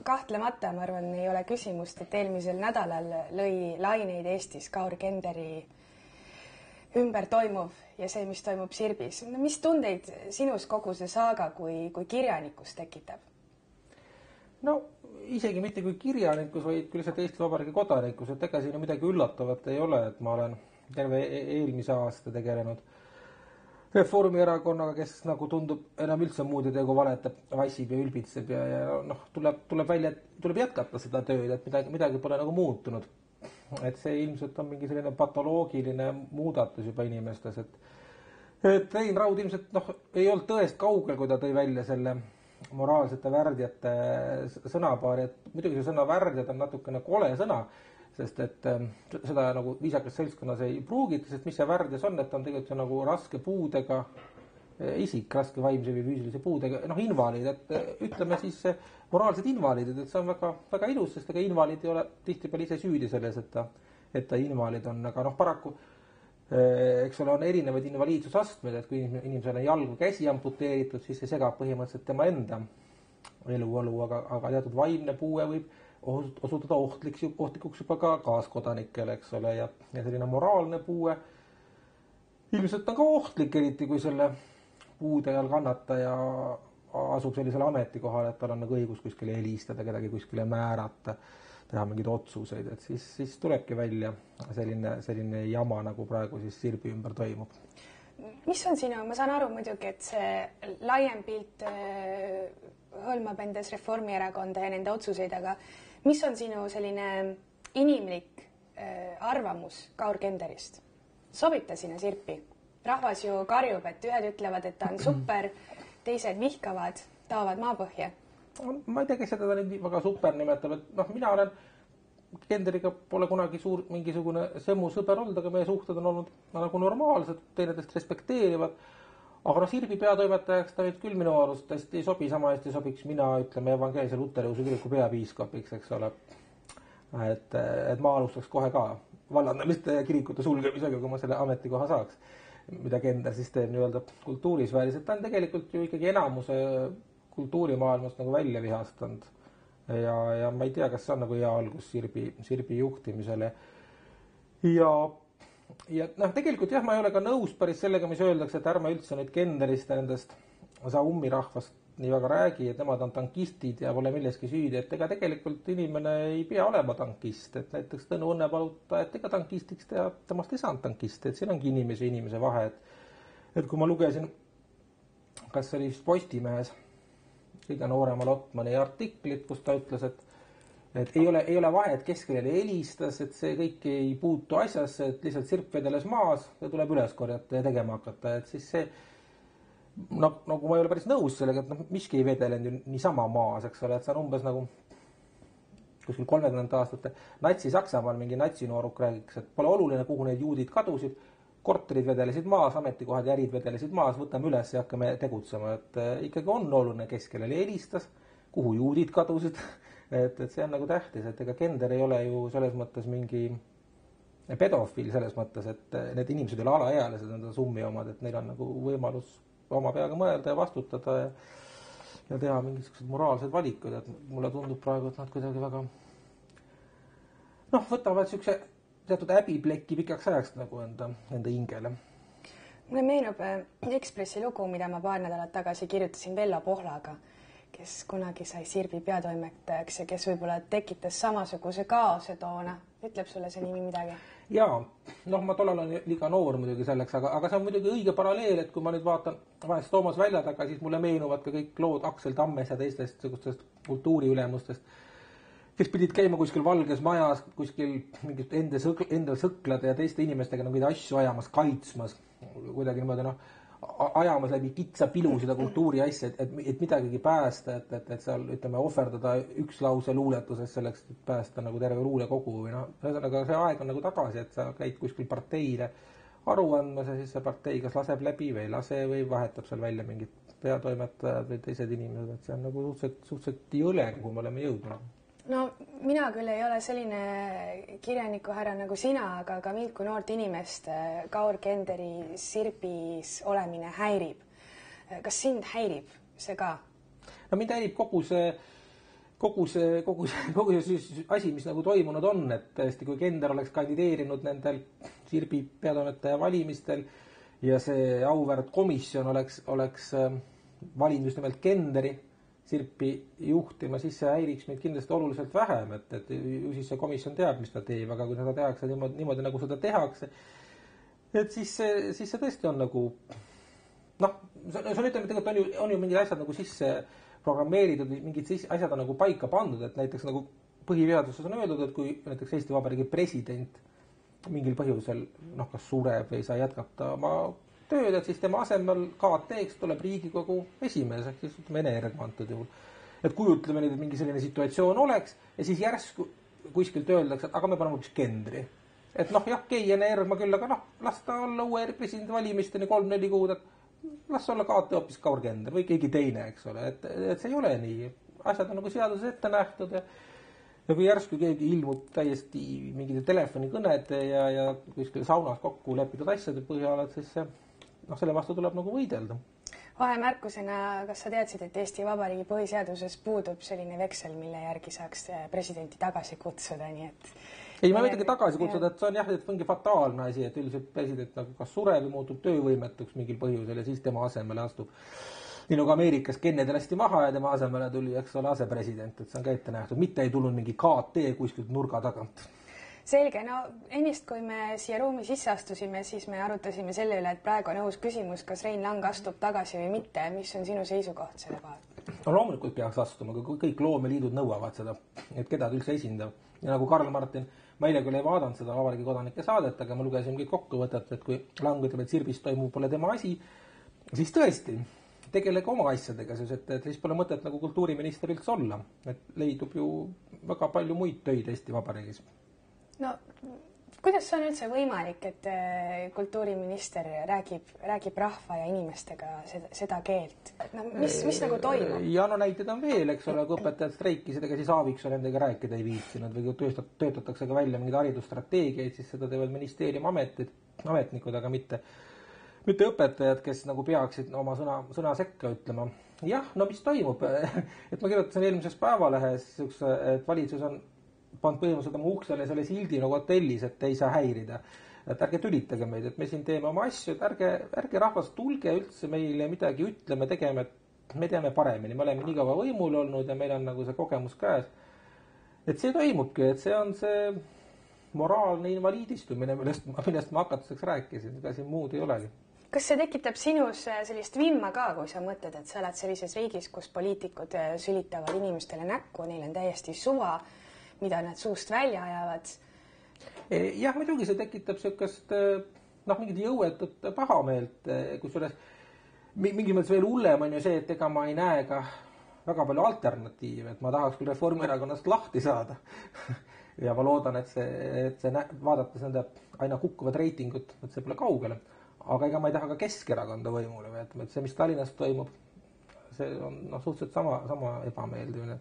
kahtlemata, ma arvan, ei ole küsimust, et eelmisel nädalal lõi laineid Eestis Kaur Kenderi ümber toimuv ja see, mis toimub Sirbis. Mis tundeid sinus kogu see saaga kui kirjanikus tekitab? No isegi mitte kui kirjanikus, vaid kui lihtsalt Eesti Vabariigi kodanikus, et ega siin midagi üllatavat ei ole, et ma olen terve eelmise aasta tegelenud Reformierakonnaga, kes nagu tundub enam üldse muud ei tee, kui valetab, vassib ja ülbitseb ja tuleb välja, et tuleb jätkata seda tööd, et midagi pole nagu muutunud. Et see ilmselt on mingi selline patoloogiline muudatus juba inimestes, et Rein Raud ilmselt ei olnud tõest kaugel, kui ta tõi välja selle moraalsete värdjate sõnapaari, et muidugi see sõna värdjad on natukene kole sõna, sest et seda nagu viisakas seltskonnas ei pruugita, sest mis see värdjas on, et on tegelikult nagu raske puudega isik, raske vaimse või füüsilise puudega, invaliid, et ütleme siis moraalsed invaliidid, et see on väga, väga ilus, sest ega invaliid ei ole tihtipeale ise süüdi selles, et ta invaliid on, aga paraku eks ole, on erinevaid invaliidsusastmed, et kui inimesel on jalg või käsi amputeeritud, siis see segab põhimõtteliselt tema enda eluolu, aga teatud vaimne puue võib osutuda ohtlikuks juba ka kaaskodanikele, eks ole, ja selline moraalne puue ilmselt on ka ohtlik, eriti kui selle puude all kannataja asub sellisele ametikohale, et tal on nagu õigus kuskile helistada, kedagi kuskile määrata, teha mingeid otsuseid, et siis tulebki välja selline jama, nagu praegu siis Sirbi ümber toimub. Mis on sinu, ma saan aru muidugi, et see laiem pilt hõlmab endas Reformierakonda ja nende otsuseid, aga mis on sinu selline inimlik arvamus Kaur Kenderist? Sobib ta sinna Sirpi? Rahvas ju karjub, et ühed ütlevad, et ta on super, teised vihkavad, taovad maapõhja. Ma ei tea, kes seda nüüd väga super nimetab, et mina olen Kenderiga pole kunagi mingisugune semmu sõber olnud, aga meie suhted on olnud nagu normaalsed, teineteist respekteerivad. Aga Sirbi peatoimetajaks ta nüüd küll minu arust hästi ei sobi, sama hästi sobiks mina, ütleme, evangeelse luteriuse kiriku peapiiskapiks, eks ole. Et ma alustaks kohe ka vallandamiste ja kirikute sulgemisega, kui ma selle ametikoha saaks, mida Kender siis teeb nii-öelda kultuurisfääris. Et ta on tegelikult ju ikkagi enamuse kultuurimaailmast nagu välja vihastanud. Ja ma ei tea, kas see on nagu hea algus Sirbi juhtimisele. Ja tegelikult jah, ma ei ole ka nõus päris sellega, mis öeldakse, et ärme üldse nüüd Kenderist ja nendest Saumi rahvast nii väga räägi, et nemad on tankistid ja pole milleski süüdi, et ega tegelikult inimene ei pea olema tankist, et näiteks Tõnu Õnnepaluta, et ega tankistiks temast ei saanud tankist, et siin ongi inimese vahe, et kui ma lugesin, kas see oli Postimehes kõige noorema Lotmani artiklit, kus ta ütles, et ei ole vahe, et kes kellele helistas, et see kõik ei puutu asjasse, et lihtsalt sirp vedeles maas ja tuleb üles korjata ja tegema hakata, et siis see nagu ma ei ole päris nõus sellega, et miski ei vedelenud ju niisama maas, eks ole, et see on umbes nagu kuskil 30 aastate Natsi-Saksamaal mingi natsinooruk räägiks, et pole oluline, kuhu need juudid kadusid, korterid vedelesid maas, ametikohad ja ärid vedelesid maas, võtame üles ja hakkame tegutsema, et ikkagi on oluline, kes kellele helistas, kuhu juudid kadusid, et see on nagu tähtis, et ega Kender ei ole ju selles mõttes mingi pedofiil selles mõttes, et need inimesed ei ole alaealised, nende summi omad, et neil on nagu võimalus oma peaga mõelda ja vastutada ja teha mingisugused moraalsed valikud, et mulle tundub praegu, et nad kuidagi väga võtavad siukse teatud häbipleki pikaks ajaks nagu enda hingele. Mulle meenub Ekspressi lugu, mida ma paar nädalat tagasi kirjutasin Vello Pohlaga, kes kunagi sai Sirbi peatoimetajaks ja kes võib-olla tekitas samasuguse kaose toona. Ütleb sulle see nimi midagi? Jaa, ma tollal olen liiga noor muidugi selleks, aga see on muidugi õige paralleel, et kui ma nüüd vaatan vahest Toomas välja taga, siis mulle meenuvad ka kõik lood Aksel Tammes ja teistest kultuuriülemustest, kes pidid käima kuskil valges majas, kuskil mingit enda sõklade ja teiste inimestega mingeid asju ajamas, kaitsmas, kuidagi niimoodi ajamas läbi kitsa pilu seda kultuuri asja, et midagigi päästa, et seal, ütleme, ohverdada üks lause luuletuses selleks, et päästa nagu terve luulekogu või ühesõnaga see aeg on nagu tagasi, et sa käid kuskil parteile aru andmas ja siis see partei kas laseb läbi või ei lase või vahetab seal välja mingid peatoimetajad või teised inimesed, et see on nagu suhteliselt jõle, kuhu me oleme jõudnud. No mina küll ei ole selline kirjaniku härra nagu sina, aga ka mind kui noort inimest Kaur Kenderi Sirbis olemine häirib. Kas sind häirib see ka? No mind häirib kogu kogu see siis asi, mis nagu toimunud on, et tõesti, kui Kender oleks kandideerinud nendel Sirbi peatoimetaja valimistel ja see auväärt komisjon oleks valinud just nimelt Kenderi Sirpi juhtima, siis see häiriks meid kindlasti oluliselt vähem, et ju siis see komisjon teab, mis ta teeb, aga kui seda tehakse niimoodi nagu seda tehakse, et siis see tõesti on nagu noh, see on ütleme, tegelikult on ju mingid asjad nagu sisse programmeeritud, mingid asjad on nagu paika pandud, et näiteks nagu põhiseaduses on öeldud, et kui näiteks Eesti Vabariigi president mingil põhjusel kas sureb või ei saa jätkata oma tööd, et siis tema asemel KT-ks tuleb Riigikogu esimees, ehk siis ütleme Ene-Ergma antud juhul. Et kujutleme nüüd, et mingi selline situatsioon oleks ja siis järsku kuskilt öeldakse, et aga me paneme hoopis Kendri. Et jah, Kei Ene-Ergma küll, aga las ta olla uue presidendi valimisteni 3-4 kuud, et las olla KT hoopis Kaur Kender või keegi teine, eks ole. Et see ei ole nii. Asjad on nagu seaduses ette nähtud ja kui järsku keegi ilmub täiesti mingite telefonikõnede ja kuskil saunas kokku lepitud asjade põhjal, et siis selle vastu tuleb nagu võidelda. Vahemärkusena, kas sa teadsid, et Eesti Vabariigi põhiseaduses puudub selline veksel, mille järgi saaks presidenti tagasi kutsuda, nii et... Ei, ma võidagi tagasi kutsuda, et see on et mingi fataalne asi, et üldiselt president nagu kas sureb või muutub töövõimetuks mingil põhjusel ja siis tema asemele astub. Nii nagu Ameerikas Kennedy lasti maha ja tema asemele tuli, eks ole, asepresident, et see on ka ette nähtud. Mitte ei tulnud mingi KT kuskilt nurga tagant. Selge, ennist kui me siia ruumi sisse astusime, siis me arutasime selle üle, et praegu on õhus küsimus, kas Rein Lang astub tagasi või mitte. Mis on sinu seisukoht selle kohal? Loomulikult peaks astuma, kui kõik loomeliidud nõuavad seda, et keda ta üldse esindab. Ja nagu Karl Martin, ma eile küll ei vaadanud seda Vabariigi kodanike saadet, aga ma lugesin kõik kokkuvõtet, et kui Lang ütleb, et Sirbis toimub pole tema asi, siis tõesti, tegelege oma asjadega, et siis pole mõtet nagu kultuuriminister üldse olla. Et leidub ju väga palju muid töid Eesti Vabariigis. Kuidas on üldse võimalik, et kultuuriminister räägib rahva ja inimestega seda keelt? Mis nagu toimub? Ja näited on veel, eks ole, kui õpetajad streikisid, ega siis Aaviksoo nendega rääkida ei viitsinud või kui töötatakse ka välja mingid haridusstrateegiaid, siis seda teevad ministeeriumi ametnikud, aga mitte õpetajad, kes nagu peaksid oma sõna sekka ütlema. Jah, mis toimub? Et ma kirjutasin eelmises Päevalehes, et valitsus on pannud põhimõtteliselt oma uksele selle sildi nagu hotellis, et ei saa häirida. Et ärge tülitage meid, et me siin teeme oma asju, et ärge rahvas tulge üldse meile midagi ütleme, tegeme, et me teame paremini. Me oleme nii kaua võimul olnud ja meil on nagu see kogemus käes. Et see toimubki, et see on see moraalne invaliidistumine, millest ma hakatuseks rääkisin, ega siin muud ei olegi. Kas see tekitab sinus sellist vimma ka, kui sa mõtled, et sa oled sellises riigis, kus poliitikud sülitavad inimestele näkku, neil on täiesti suva, mida nad suust välja ajavad? Jah, muidugi see tekitab sellist mingit jõuetut pahameelt, kusjuures mingi mõttes veel hullem on ju see, et ega ma ei näe ka väga palju alternatiive, et ma tahaks küll Reformierakonnast lahti saada ja ma loodan, et see vaadates nende aina kukkuvad reitingut, et see pole kaugele, aga ega ma ei taha ka Keskerakonda võimule, et see, mis Tallinnas toimub, see on suhteliselt sama ebameeldivne,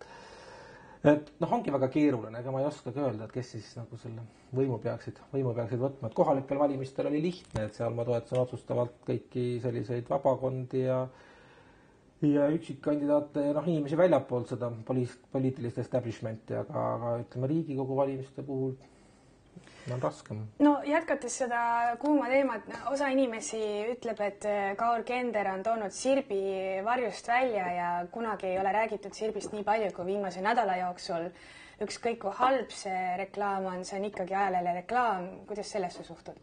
et ongi väga keeruline, ega ma ei oskagi öelda, et kes siis nagu selle võimu peaksid võtma, et kohalikel valimistel oli lihtne, et seal ma toetasin otsustavalt kõiki selliseid vabakondi ja üksikkandidaate ja inimesi väljapoolt seda poliitilist establishmenti, aga ütleme Riigikogu valimiste puhul on raskem. Jätkates seda kuuma teemat, osa inimesi ütleb, et Kaur Kender on toonud Sirbi varjust välja ja kunagi ei ole räägitud Sirbist nii palju kui viimase nädala jooksul. Ükskõik kui halb see reklaam on, see on ikkagi ajalehele reklaam. Kuidas sellesse suhtud?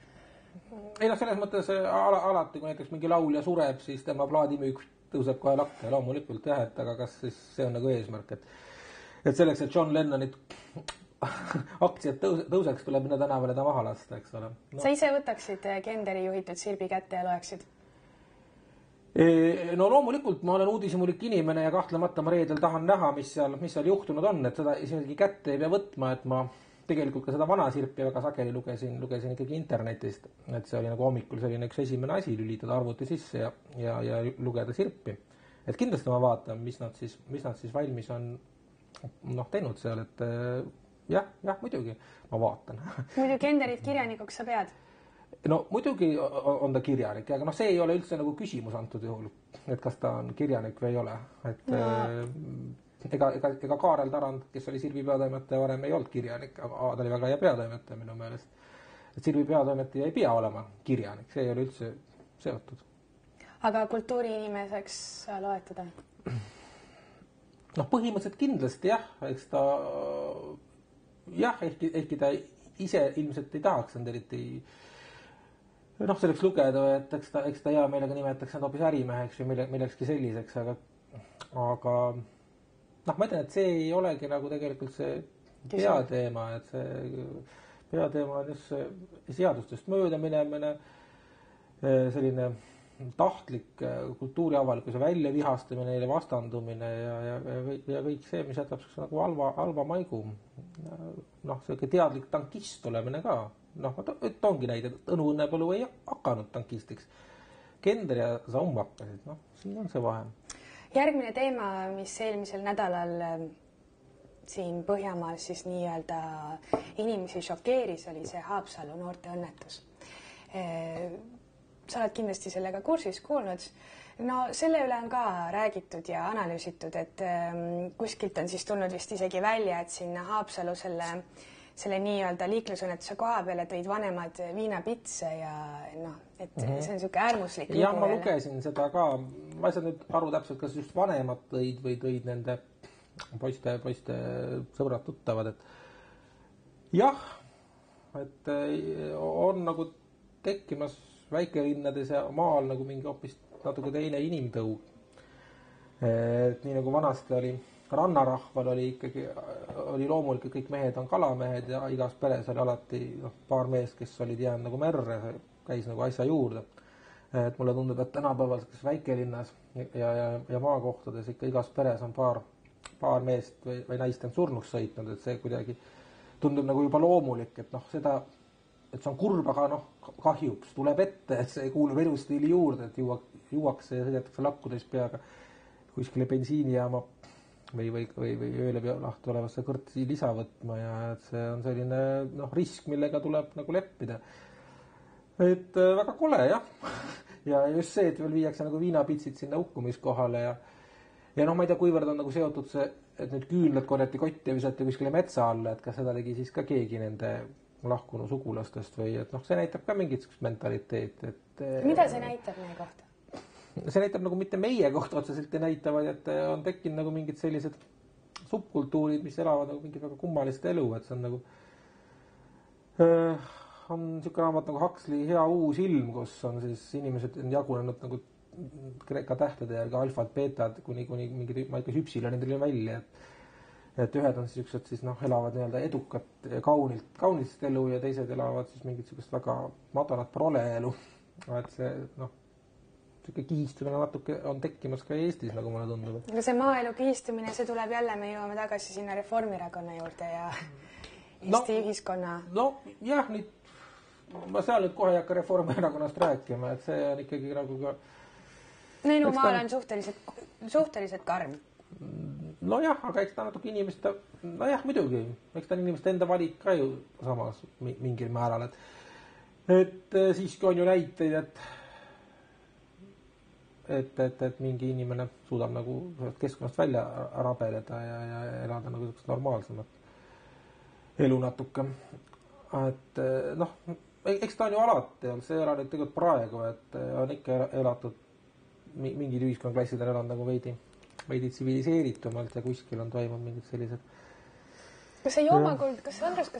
Ei selles mõttes alati, kui näiteks mingi laulja sureb, siis tema plaadimüük tõuseb kohe lakke. Loomulikult jah, et aga kas siis see on nagu eesmärk, et selleks, et John Lennonit aktsiad tõuseks, tuleb minna tänavale ta maha lasta, eks ole. Sa ise võtaksid Kenderi juhitud Sirbi kätte ja loeksid? Loomulikult ma olen uudishimulik inimene ja kahtlemata ma reedel tahan näha, mis seal juhtunud on, et seda isegi kätte ei pea võtma, et ma tegelikult ka seda vana Sirpi väga sageli lugesin ikkagi internetist, et see oli nagu hommikul selline üks esimene asi, lülitada arvuti sisse ja lugeda Sirpi. Et kindlasti ma vaatan, mis nad siis valmis on teinud seal, et jah, muidugi ma vaatan. Muidu Kenderit kirjanikuks sa pead? Muidugi on ta kirjanik, aga see ei ole üldse nagu küsimus antud juhul, et kas ta on kirjanik või ei ole. ega Kaarel Tarand, kes oli Sirbi peatoimetaja varem, ei olnud kirjanik, aga ta oli väga hea peatoimetaja minu meelest. Et Sirbi peatoimetaja ei pea olema kirjanik, see ei ole üldse seotud. Aga kultuuriinimeseks sa loed teda? Noh, põhimõtteliselt kindlasti jah, eks ta jah, ehkki ta ise ilmselt ei tahaks end eriti selleks lugeda, et eks ta hea meelega nimetaks end hoopis ärimeheks või millekski selliseks, aga ma ütlen, et see ei olegi nagu tegelikult see peateema, et see peateema on just see seadustest mööda minemine, selline tahtlik kultuuriavalikkuse väljavihastamine, neile vastandumine ja kõik see, mis jätab nagu halva maigu. See teadlik tankist olemine ka. Et ongi näide, et Õnu Õnnepõlu ei hakanud tankistiks. Kender ja Saum hakkasid, siin on see vahe. Järgmine teema, mis eelmisel nädalal siin Põhjamaal siis nii-öelda inimesi šokeeris, oli see Haapsalu noorte õnnetus. Sa oled kindlasti sellega kursis kuulnud. Selle üle on ka räägitud ja analüüsitud, et kuskilt on siis tulnud vist isegi välja, et sinna Haapsalu selle nii-öelda liiklusõnnetuse koha peale tõid vanemad viinapitse ja et see on niisugune äärmuslik lugu. Ja ma lugesin seda ka. Ma ei saa nüüd aru täpselt, kas just vanemad tõid või tõid nende poiste sõbrad tuttavad. Jah, et on nagu tekkimas väikelinnades ja maal nagu mingi hoopis natuke teine inimtõug. Et nii nagu vanasti oli rannarahval oli loomulikult kõik mehed on kalamehed ja igas peres oli alati paar meest, kes olid jäänud nagu merre, käis nagu asja juurde. Et mulle tundub, et tänapäeval väikelinnas ja maakohtades ikka igas peres on paar meest või naist on surnuks sõitnud, et see kuidagi tundub nagu juba loomulik, et seda et see on kurb, aga kahjuks tuleb ette, et see kuulub elustiili juurde, et juuakse ja sõidetakse lakkudes peaga kuskile bensiinijaama või ööle lahti olevasse kõrtsi lisa võtma ja et see on selline risk, millega tuleb nagu leppida. Et väga kole, jah. Ja just see, et veel viiakse nagu viinapitsid sinna hukkumiskohale ja ma ei tea, kuivõrd on nagu seotud see, et nüüd küünlad korjati kotti ja visati kuskile metsa alla, et kas seda tegi siis ka keegi nende lahkunu sugulastest või et see näitab ka mingit mentaliteet. Mida see näitab meie kohta? See näitab nagu mitte meie kohta otseselt ei näita, vaid et on tekkinud nagu mingid sellised subkultuurid, mis elavad nagu mingit väga kummalist elu, et see on nagu on niisugune raamat nagu Huxley Hea uus ilm, kus on siis inimesed jagunenud nagu kreeka tähtede järgi alfad, beetad kuni mingid hüpsilonidele välja, et ühed on siis elavad nii-öelda edukat ja kaunist elu ja teised elavad siis mingit niisugust väga madalat proleelu. Et see niisugune kihistumine natuke on tekkimas ka Eestis, nagu mulle tundub. Aga see maaelu kihistumine, see tuleb jälle, me jõuame tagasi sinna Reformierakonna juurde ja Eesti ühiskonna. Jah, ma seal nüüd kohe ei hakka Reformierakonnast rääkima, et see on ikkagi nagu ka... Maal on suhteliselt karm. Jah, aga eks ta natuke inimeste, muidugi, eks ta on inimeste enda valik ka ju samas mingil määral, et siiski on ju näiteid, et mingi inimene suudab nagu keskkonnast välja rabeleda ja elada nagu normaalsemat elu natuke. Et eks ta on ju alati, see ei ole nüüd tegelikult praegu, et on ikka elatud, mingid ühiskonnaklassid on elanud nagu veidi tsiviliseeritumalt ja kuskil on toimunud mingid sellised. Kas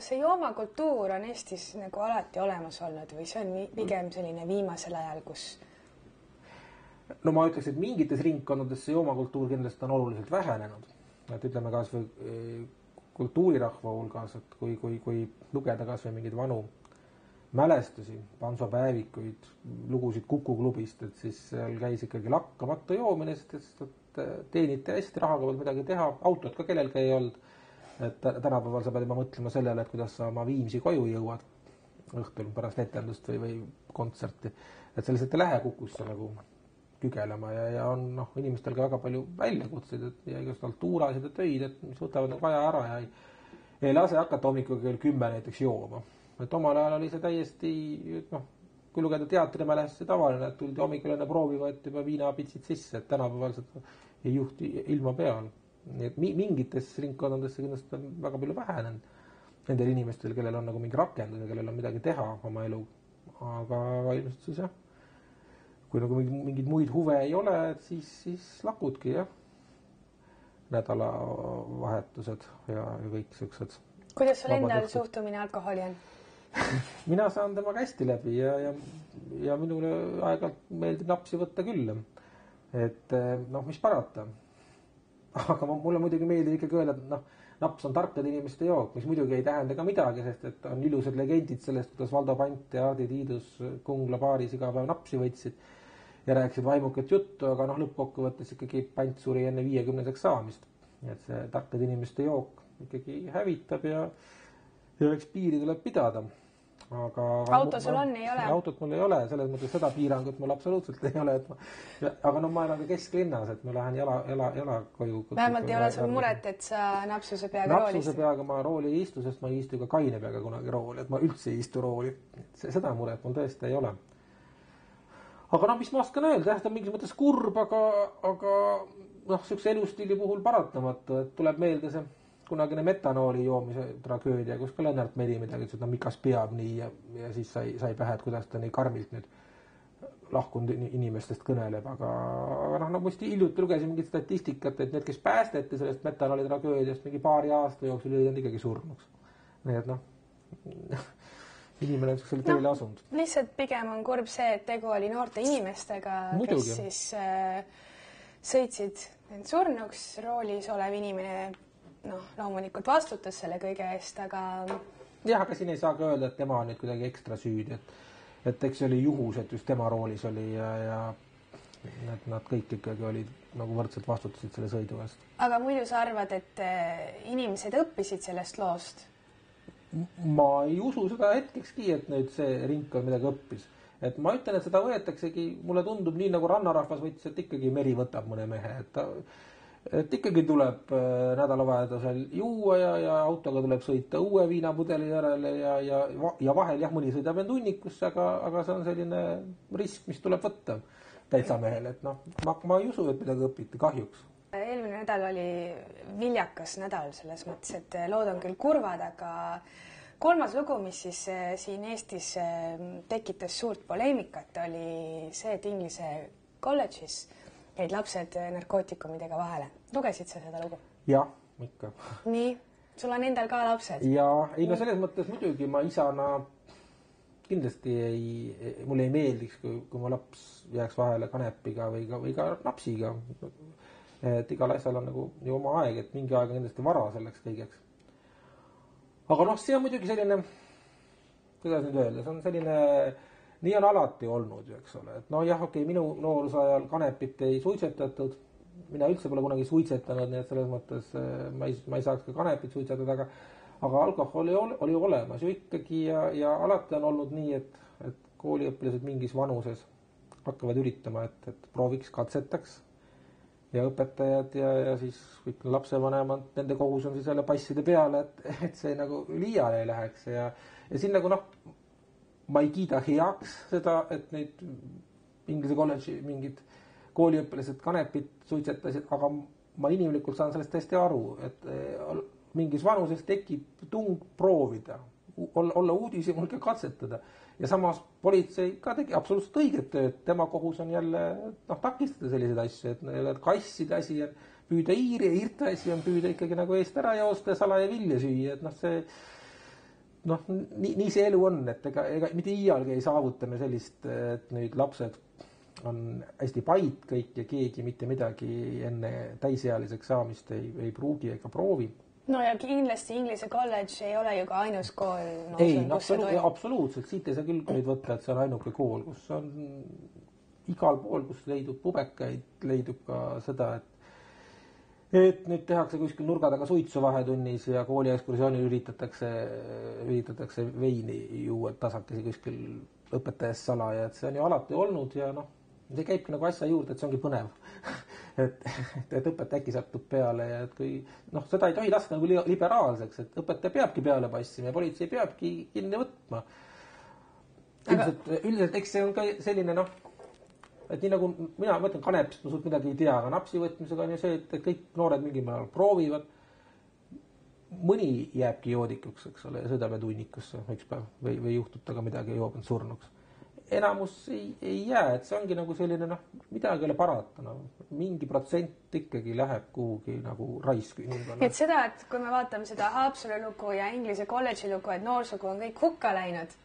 see joomakultuur on Eestis nagu alati olemas olnud või see on pigem selline viimasel ajal, kus? Ma ütleks, et mingites ringkondades see joomakultuur kindlasti on oluliselt vähenenud. Et ütleme kas või kultuurirahva hulgas, et kui lugeda kas või mingeid vanu mälestusi, pansopäevikuid, lugusid Kukuklubist, et siis seal käis ikkagi lakkamatu joomine, sest teeniti hästi, rahaga peal midagi teha, autot ka kellelgi ei olnud. Et tänapäeval sa pead juba mõtlema sellele, et kuidas sa oma Viimsi koju jõuad õhtul pärast etendust või kontserti. Et sa lihtsalt ei lähe Kukusse nagu kügelema ja on inimestel ka väga palju väljakutseid ja igast altuurasid ja töid, et mis võtavad nagu aja ära ja ei lase hakata hommikuga kell 10 näiteks jooma. Et omal ajal oli see täiesti, kui lugeda teatrimälestusi tavaline, et tuldi hommikul enne proovi võeti juba viinapitsid sisse, et tänapäeval seda ei juhti ilma peal. nii et mingites ringkondadesse kindlasti on väga palju vähenenud nendel inimestel, kellel on nagu mingi rakendus ja kellel on midagi teha oma elu. Aga ilmselt siis jah, kui nagu mingid muid huve ei ole, siis lakudki jah, nädalavahetused ja kõik siuksed. Kuidas sul endal suhtumine alkoholi on? Mina saan temaga hästi läbi ja minule aeg-ajalt meeldib napsi võtta küll. Et mis parata. Aga mulle muidugi meeldib ikkagi öelda, et naps on tarkade inimeste jook, mis muidugi ei tähenda ka midagi, sest et on ilusad legendid sellest, kuidas Valdo Pant ja Hardi Tiidus Kungla baaris iga päev napsi võtsid ja rääkisid vaimukat juttu, aga lõppkokkuvõttes ikkagi Pant suri enne 50-seks saamist. Et see tarkade inimeste jook ikkagi hävitab ja eks piiri tuleb pidada. Aga auto sul on, ei ole? Autot mul ei ole, selles mõttes seda piirangut mul absoluutselt ei ole. Aga ma elan ka kesklinnas, et ma lähen jala koju. Vähemalt ei ole sul muret, et sa napsuse peaga roolist? Napsuse peaga ma rooli ei istu, sest ma ei istu ka kaine peaga kunagi rooli, et ma üldse ei istu rooli. Seda muret mul tõesti ei ole. Aga mis ma oskan öelda, ta on mingis mõttes kurb, aga sükse elustiili puhul paratamatu, et tuleb meelde see kunagine metanooli joomise tragöödia, kus ka Lennart Meri midagi ütles, et mikas peab nii ja siis sai pähe, et kuidas ta nii karmilt nüüd lahkunud inimestest kõneleb. Aga muisti hiljuti lugesin mingit statistikat, et need, kes päästeti sellest metanooli tragöödiast mingi paari aasta jooksul jõudnud ikkagi surnuks. Nii et inimene on sellisele teele asunud. Lihtsalt pigem on kurb see, et tegu oli noorte inimestega, kes siis sõitsid end surnuks, roolis olev inimene loomulikult vastutas selle kõige eest, aga... Jah, aga siin ei saa ka öelda, et tema on nüüd kuidagi ekstra süüdi, et eks see oli juhus, et just tema roolis oli ja nad kõik ikkagi olid nagu võrdselt vastutasid selle sõidu eest. Aga muidu sa arvad, et inimesed õppisid sellest loost? Ma ei usu seda hetkekski, et nüüd see ringkond midagi õppis. Et ma ütlen, et seda võetaksegi, mulle tundub nii nagu rannarahvas võttis, et ikkagi meri võtab mõne mehe, et ikkagi tuleb nädalavahetusel juua ja autoga tuleb sõita uue viinapudeli järele ja vahel jah, mõni sõidab end hunnikusse, aga see on selline risk, mis tuleb võtta täitsa mehel, et ma ei usu, et midagi õpiti kahjuks. Eelmine nädal oli viljakas nädal selles mõttes, et lood on küll kurvad, aga kolmas lugu, mis siis siin Eestis tekitas suurt poleemikat, oli see, et Inglise kolledžis jäid lapsed narkootikumidega vahele. Lugesid sa seda lugu? Jah, ikka. Nii, sul on endal ka lapsed? Jaa, selles mõttes muidugi ma isana kindlasti mulle ei meeldiks, kui ma laps jääks vahele kanepiga või ka napsiga. Et igal asjal on nagu ju oma aeg, et mingi aeg on kindlasti vara selleks kõigeks. Aga see on muidugi selline, kuidas nüüd öelda, see on selline... Nii on alati olnud, eks ole. Et jah, minu noorusajal kanepit ei suitsetatud. Mina üldse pole kunagi suitsetanud, nii et selles mõttes ma ei saaks ka kanepit suitsetada, aga alkohol oli olemas ju ikkagi ja alati on olnud nii, et kooliõpilased mingis vanuses hakkavad üritama, et prooviks, katsetaks ja õpetajad ja siis kõik lapsevanemad, nende kohus on siis jälle passide peale, et see nagu liiale ei läheks ja siin nagu ma ei kiida heaks seda, et nüüd Inglise kolledži mingid kooliõpilased kanepit suitsetasid, aga ma inimlikult saan sellest tõesti aru, et mingis vanuses tekib tung proovida, olla uudishimul ja katsetada. Ja samas politsei ka tegi absoluutselt õiget tööd, tema kohus on jälle takistada selliseid asju, et kasside asi on püüda iiri ja irte asi on püüda ikkagi nagu eest ära joosta ja salaja vilja süüa, et see nii see elu on, et ega mitte iialgi ei saavuta me sellist, et nüüd lapsed on hästi pait kõik ja keegi mitte midagi enne täisealiseks saamist ei pruugi ega proovi. No ja kindlasti Inglise kolledž ei ole ju ka ainus kool. Absoluutselt, siit ei saa küll nüüd võtta, et see on ainuke kool, kus on igal pool, kus leidub pubekaid, leidub ka seda, et nüüd tehakse kuskil nurga taga suitsu vahetunnis ja kooli ekskursioonil üritatakse veini juua tasakesi kuskil õpetajast salaja, et see on ju alati olnud ja see käibki nagu asja juurde, et see ongi põnev. et õpetaja äkki satub peale ja et kui seda ei tohi laska nagu liberaalseks, et õpetaja peabki peale passima ja politsei peabki kinni võtma. Üldiselt eks see on ka selline et nii nagu mina mõtlen kanepist, ma suurt midagi ei tea, aga napsi võtmisega on ju see, et kõik noored mingil määral proovivad. Mõni jääbki joodikuks, eks ole, ja sõidab tunnikusse üks päev või juhtub taga midagi ja joob end surnuks. Enamus ei jää, et see ongi nagu selline, midagi ei ole parata. Mingi protsent ikkagi läheb kuhugi nagu raisku inimkonna. Et seda, et kui me vaatame seda Haapsalu lugu ja Inglise kolledži lugu, et noorsugu on kõik hukka läinud.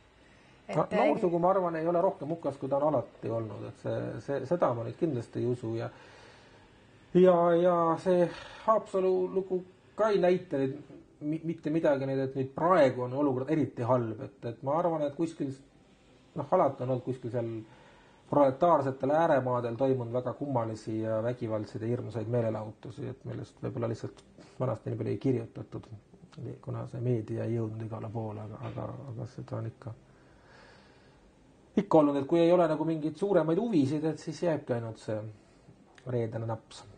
Noorsugu, ma arvan, ei ole rohkem hukas, kui ta on alati olnud. Et seda ma nüüd kindlasti ei usu. Ja see Haapsalu lugu ka ei näita mitte midagi, et nüüd praegu on olukord eriti halb. Et ma arvan, et kuskil alati on olnud kuskil seal proletaarsetel ääremaadel toimunud väga kummalisi ja vägivaldseid ja hirmusaid meelelahutusi, et millest võib-olla lihtsalt vanasti nii palju ei kirjutatud, kuna see meedia ei jõudnud igale poole, aga seda on ikka olnud, et kui ei ole nagu mingeid suuremaid huvisid, et siis jääbki ainult see reedene naps.